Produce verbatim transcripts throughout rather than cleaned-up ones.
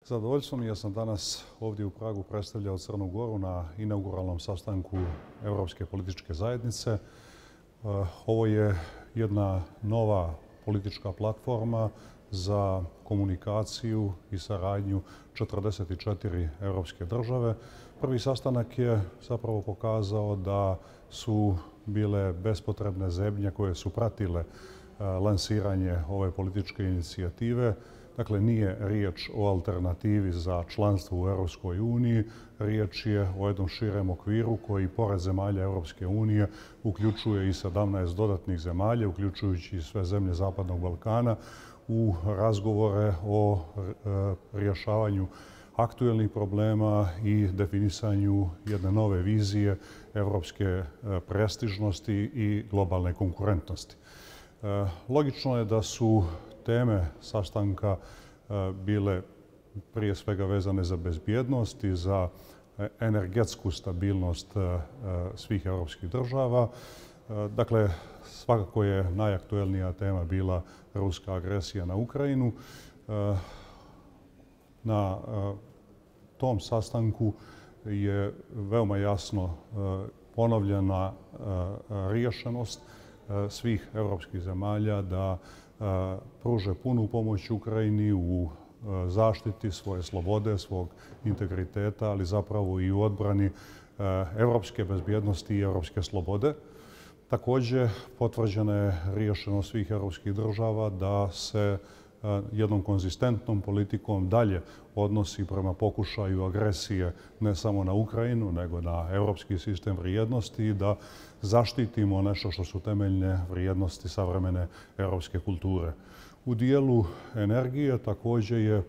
Zadovoljstvo mi je, ja sam danas ovdje u Pragu predstavljao Crnu Goru na inauguralnom sastanku Europske političke zajednice. Ovo je jedna nova politička platforma za komunikaciju i saradnju četrdeset četiri europske države. Prvi sastanak je zapravo pokazao da su bile bespotrebne zebnje koje su pratile lansiranje ove političke inicijative. Dakle, nije riječ o alternativi za članstvo u Europskoj uniji, riječ je o jednom širem okviru koji pored zemalja Europske unije uključuje i sedamnaest dodatnih zemalja, uključujući i sve zemlje Zapadnog Balkana, u razgovore o rješavanju aktuelnih problema i definisanju jedne nove vizije europske prestižnosti i globalne konkurentnosti. Logično je da su teme sastanka bile prije svega vezane za bezbjednost i za energetsku stabilnost svih europskih država. Dakle, svakako je najaktuelnija tema bila ruska agresija na Ukrajinu. Na tom sastanku je veoma jasno ponovljena riješenost svih europskih zemalja da pruže punu pomoć Ukrajini u zaštiti svoje slobode, svog integriteta, ali zapravo i u odbrani europske bezbjednosti i europske slobode. Također, potvrđena je riješenost svih europskih država da se jednom konzistentnom politikom dalje odnosi prema pokušaju agresije ne samo na Ukrajinu, nego na europski sistem vrijednosti i da zaštitimo nešto što su temeljne vrijednosti savremene europske kulture. U dijelu energije također je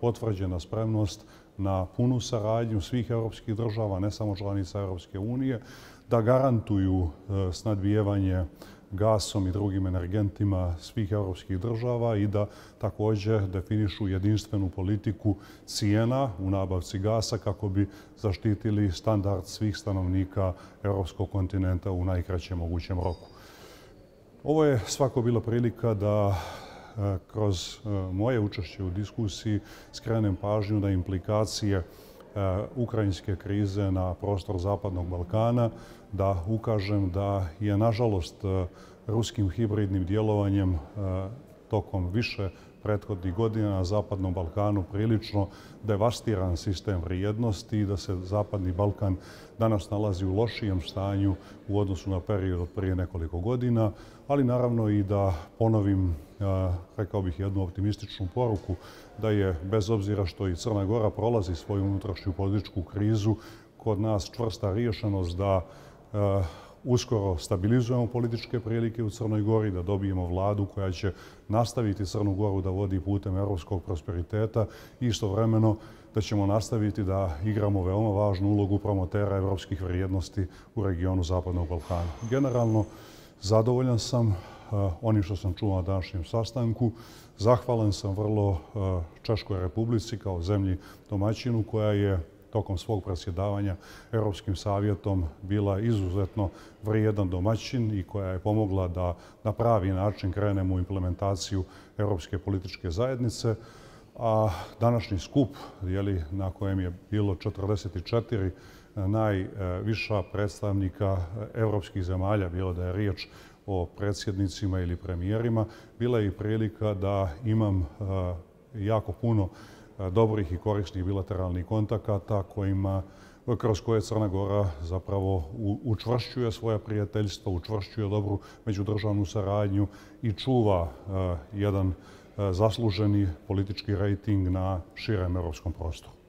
potvrđena spremnost na punu saradnju svih europskih država, ne samo članica Europske unije, da garantuju snadbijevanje gasom i drugim energentima svih europskih država i da također definišu jedinstvenu politiku cijena u nabavci gasa kako bi zaštitili standard svih stanovnika europskog kontinenta u najkraćem mogućem roku. Ovo je svako bila prilika da kroz moje učešće u diskusiji skrenem pažnju na implikacije ukrajinske krize na prostor Zapadnog Balkana, da ukažem da je nažalost ruskim hibridnim djelovanjem tokom više prethodnih godina na Zapadnom Balkanu prilično devastiran sistem vrijednosti i da se Zapadni Balkan danas nalazi u lošijem stanju u odnosu na period od prije nekoliko godina, ali naravno i da ponovim, rekao bih, jednu optimističnu poruku da je, bez obzira što i Crna Gora prolazi svoju unutrašnju političku krizu, kod nas čvrsta riješenost da uskoro stabilizujemo političke prilike u Crnoj Gori, da dobijemo vladu koja će nastaviti Crnu Goru da vodi putem europskog prosperiteta i istovremeno da ćemo nastaviti da igramo veoma važnu ulogu promotera europskih vrijednosti u regionu Zapadnog Balkana. Generalno, zadovoljan sam onim što sam čuo na današnjem sastanku. Zahvalan sam vrlo Češkoj Republici kao zemlji domaćinu koja je tokom svog predsjedavanja Europskim savjetom bila izuzetno vrijedan domaćin i koja je pomogla da na pravi način krenemo u implementaciju Europske političke zajednice. A današnji skup, na kojem je bilo četrdeset četiri najviša predstavnika europskih zemalja, bilo da je riječ o predsjednicima ili premijerima, bila je i prilika da imam jako puno dobrih i korisnih bilateralnih kontakata kojima, kroz koje Crna Gora zapravo učvršćuje svoja prijateljstva, učvršćuje dobru međudržavnu saradnju i čuva jedan zasluženi politički rejting na širem europskom prostoru.